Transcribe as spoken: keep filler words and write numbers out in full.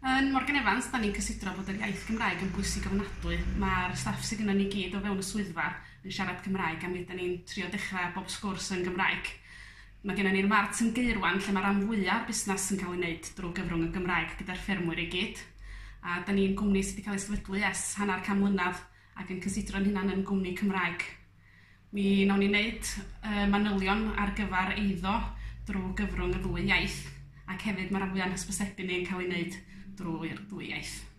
Yn Morgan Evans, da ni'n cysidro bod yr iaith Gymraeg yn bwysig ofnadwy. Mae'r staff sydd gennym ni gyd o fewn y swyddfa yn siarad Cymraeg a mi ydan ni'n trio dechrau bob sgwrs yn Gymraeg. Mae gennym ni'r mart yn Gaerwan lle mae rhan fwyaf o'r busnes yn cael ei wneud drwy gyfrwng y Gymraeg gyda'r ffermwyr i gyd. A da ni'n gwmni sydd wedi cael ei sefydlu ers hanner can mlynedd ac yn cysidro'n hunan yn gwmni Cymraeg. Mi nawn ni wneud uh, manylion ar gyfer eiddo drwy gyfrwng y ddwy iaith ac hefyd mae'r rhan fwyaf o'n hysbysebu ni yn cael ei wneud drwy'r ddwy iaith.